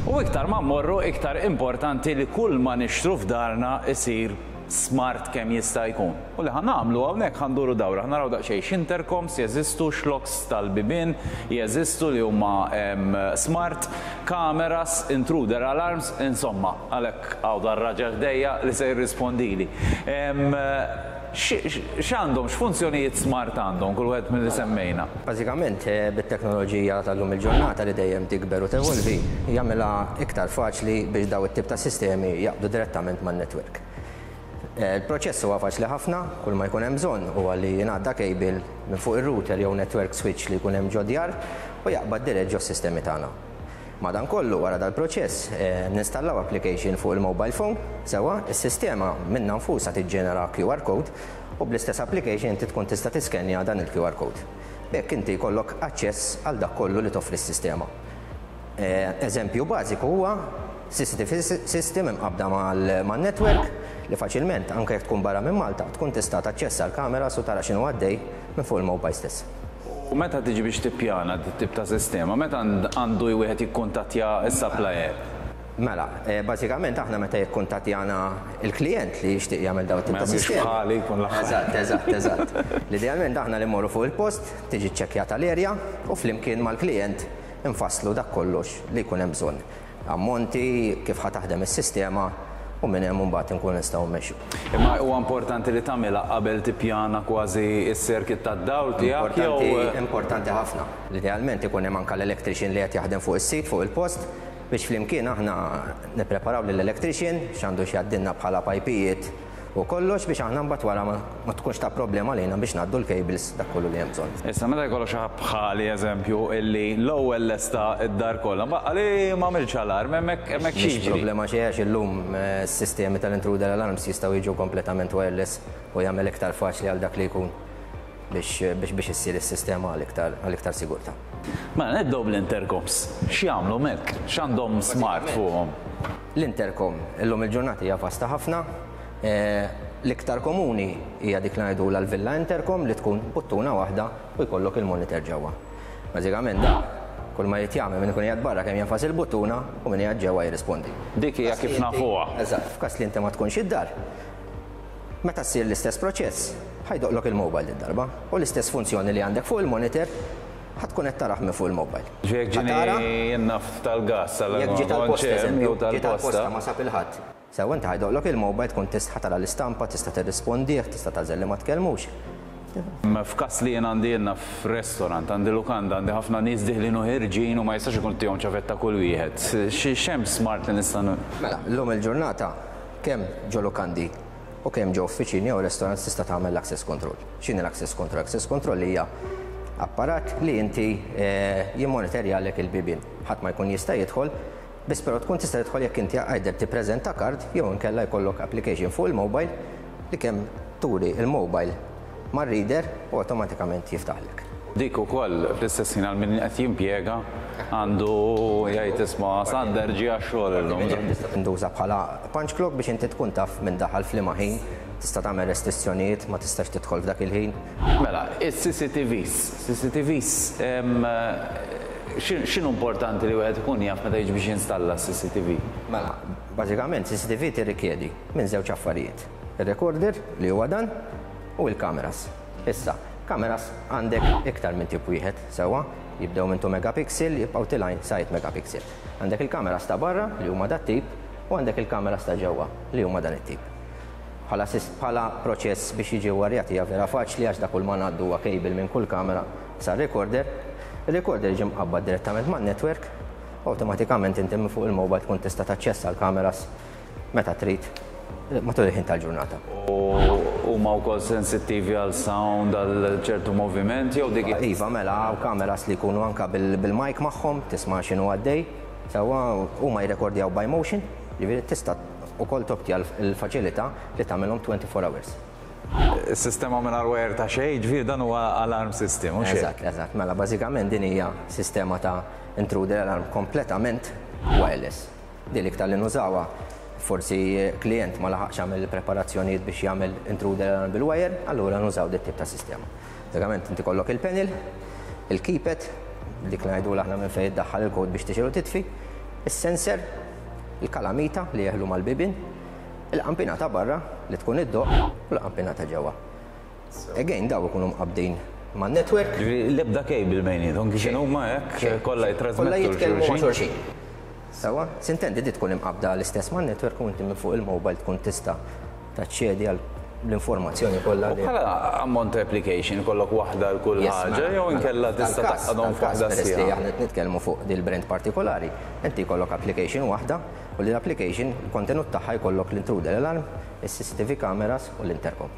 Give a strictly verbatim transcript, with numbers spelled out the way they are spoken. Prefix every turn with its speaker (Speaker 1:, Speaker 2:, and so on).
Speaker 1: U iktar ma mmorru, iktar importanti li kull ma nixtru f'darna isir smart kemm jista' jkun. U li ħa nagħmlu hawnhekk, ħa nduru dawra, ħa naraw daqsxejn x'intercoms jeżistu, x'locks tal-bibien jeżistu li huma em, smart, cameras, intruder alarms, insomma, għalhekk hawn dar-raġel ħdejja li se jirrispondili. Em, X'għandhom, x'funzjonijiet smart għandhom kull wieħed mill-li semmejna?
Speaker 2: Bażikament, eh, bit-teknoloġija tal-lum il-ġurnata li dejjem tikber u tevolvi, jagħmilha iktar faċli biex daw it-tip ta' sistemi jaqbdu direttament man-network. Eh, Il-proċess huwa faċli ħafna, kull ma jkun hemm bżonn huwa li jingħadda cable minn fuq ir-router jew network switch li jkun hemm ġo djar u jaqbad dirett ġo sistemi tagħna. Madankollu, wara dal-proċess, eh, ninstallaw application fuq il-mobile phone, sewwa, is-sistema minnha nfusha tiġġenera Q R code u bl-istess application inti tkun tista' tiskenja dan il-Q R code. B'hekk inti jkollok aċċess għal dak kollu li toffri s-sistema. Eh, Eżempju bażiku huwa C C T V system imqabda mal-network li faċilment, anke jekk tkun barra minn Malta, tkun tista' taċċessa l-kamera u tara x'inhu għaddej minn fuq il-mobile stess.
Speaker 1: U meta tiġi biex tippjana tip ta' sistema, meta għandu wieħed jikkuntattja s-supplier?
Speaker 2: Mela, eh, bażikament aħna meta jikkuntattjana il-klient li jixtieq jagħmel dawn tip ta'
Speaker 1: Mhux
Speaker 2: sistema.
Speaker 1: Bħali jkun l-aħħar.
Speaker 2: Eżatt, eżatt, eżatt. L-idealment aħna li mmorru fuq il-post, tiġi ċċekkjata l-erja u flimkien mal-klient infasslu dak kollox li jkun hemm bżonn. Ammonti, kif ħa taħdem is-sistema u minn hemm mbagħad inkun nistgħu mmexxu.
Speaker 1: Imma huwa importanti li tagħmilha qabel tippjana kważi s-circuit tad-dawl tiegħek jew
Speaker 2: Importanti, importanti ħafna. Idealment ikun hemm anke l-electrician li qed jaħdem fuq is-sit, fuq il-post, biex flimkien aħna nippreparaw lill-electrician x'għandu x'jgħaddilna bħala pajpijiet u kollox, biex aħna mbagħad wara ma ma tkunx ta' problema lejna biex ngħaddu l-cables, dak kollu li hemm bżonn.
Speaker 1: Issa, meta jkollu xi ħadd bħali, eżempju, illi l-ewwel lesta id-dar kollha, baqa li ma għamilx alarm, hemmhekk hemmhekk
Speaker 2: Mhix
Speaker 1: x'jiġri?
Speaker 2: problema xejn, għax illum eh, s-sistemi tal-intruder alarms jistgħu jiġu kompletament wireless u jagħmel iktar faċli għal dak li jkun biex biex biex issir is-sistema għal iktar għal iktar sigurtà.
Speaker 1: Mela nibdew bl-intercoms. X'jagħmlu mek? X'għandhom smart fuqhom?
Speaker 2: L-intercom illum il-ġurnata hija vasta ħafna. Eh, L-iktar komuni hija dik li ngħidu l-villa intercom, li tkun buttuna waħda u jkollok il-monitor ġewwa. Bażikament da kull ma jrid jagħmel min ikun qiegħed barra kemm jenfas il-buttuna u min qiegħed ġewwa jirrispondi.
Speaker 1: Dik hija kif nafuha.
Speaker 2: Eżatt, f'każ li inti ma tkunx id-dar. Meta ssir l-istess proċess, ħa jdoqqlok il-mobile id-darba u l-istess funzjoni li għandek fuq il-monitor ħa tkun qed tarah minn fuq il-mobile.
Speaker 1: Ġiek
Speaker 2: Ħa tara-
Speaker 1: ġini jennaf tal-gas,
Speaker 2: Jekk ġiet tal-posta, eżempju, ġiet
Speaker 1: tal-posta.
Speaker 2: tal-posta, ma sab il-ħadd. Sew, inti ħa jdoqqlok il-mobile, tkun tista' tara l-istampa, tista' tirrispondih, tista' tagħżel li ma tkellmux.
Speaker 1: Ma f'kas li jien għandi jenna f'restaurant, għandi lukanda, għandi ħafna nies diħlin u ħerġin u ma jistax ikun tihom ċavetta kull wieħed. Xi x'hemm smart li nista' nu-
Speaker 2: Mela, llum il-ġurnata kemm ġo lukandi u kemm ġo uffiċini jew restaurants tista' tagħmel l-access control. X'inhi l-access control? Access control hija apparat li inti eh, jimmonitorjalek il-bibien. Ħadd ma jkun jista' jidħol, biss però tkun tista' tidħol jekk inti either tippreżenta card jew inkella jkollok application fuq il-mobile li kemm turi il-mobile mar-reader u awtomatikament jiftaħlek.
Speaker 1: Dik ukoll fl-istess ħin għal min qed jimpjega għandu jgħid, "Isma', Sander ġie għax-xogħol illum."
Speaker 2: Tista' tintuża bħala punch clock biex inti tkun taf minn daħal f'liema ħin, tista' tagħmel restrizzjonijiet, ma tistax tidħol f'dak il-ħin.
Speaker 1: Mela, is-C C T Vs, C C T Vs, em, xin- x'inhu importanti li wieħed ikun jaf meta jiġi biex jinstalla C C T V?
Speaker 2: Mela, bażikament C C T V tirrikjedi minn żewġ affarijiet. Il-recorder, li huwa dan, u il-kameras. Issa, kameras għandek iktar minn tip wieħed, sewwa, jibdew minn two megapixel, jibqgħu telgħin sa eight megapixel. Għandek il-kameras ta' barra li huma dat tip u għandek il-kameras ta' ġewwa li huma dan it-tip. Bħala sis- bħala proċess biex jiġi warjat hija vera faċli, għax dak kull ma ngħaddu huwa cable minn kull kamera sa recorder. Il-recorder jiġi mqabbad direttament man-network, awtomatikament inti minn fuq il-mobile tkun tista' taċċessa l-kameras meta trid matul il-ħin tal-ġurnata.
Speaker 1: U huma wkoll sensittivi għal sound, għal ċertu moviment jew dik?
Speaker 2: Iva, mela, hawn kameras li jkunu anka bil- bil-mic magħhom, tisma' x'inhu għaddej, sewwa, huma jirrekordjaw by motion, jiġifieri tista' ukoll topti l-faċilità li tagħmelhom twenty-four hours.
Speaker 1: Is-sistema mingħajr wire ta' xejn, ġifieri dan huwa alarm system, mhux hekk?
Speaker 2: Eżatt, eżatt. Mela, bażikament din hija sistema ta' intruder alarm kompletament wireless. Din l-iktar li nużawha, forsi klient ma laħaqx jagħmel preparazzjonijiet biex jagħmel intruder alarm bil-wire, allura nużaw dit tip ta' sistema. Bażikament inti kollok il-panel, il-keypad, dik li ngħidu aħna minn fejn iddaħħal il-kod biex tixgħel u titfi, Is-sensor, il-kalamita li jeħlu mal-bibin, il-qampina ta' barra li tkun iddoqq u l-qampina ta' ġewwa. Again, daw ikunu mqabbdin man network.
Speaker 1: L-ebda cable bejniethom, kif huma hekk kollha jitrasmettu.
Speaker 2: Kollha jitkellmu ma' xulxin. Sewwa, s'intendi di tkun imqabda l-istess man network u inti minn fuq il-mobile tkun tista' taċċedi għal l-informazzjoni kollha.
Speaker 1: U bħala ammont application kollok waħda l kull ħaġa
Speaker 2: mela,
Speaker 1: jew
Speaker 2: mela,
Speaker 1: inkella tista' tgħaqqadhom f'waħda
Speaker 2: Peress li aħna qed nitkellmu fuq dil brand partikolari, inti jkollok application waħda u li l-application il-kontenut tagħha jkollok l-intruder alarm, is-C C T V cameras u l-intercom.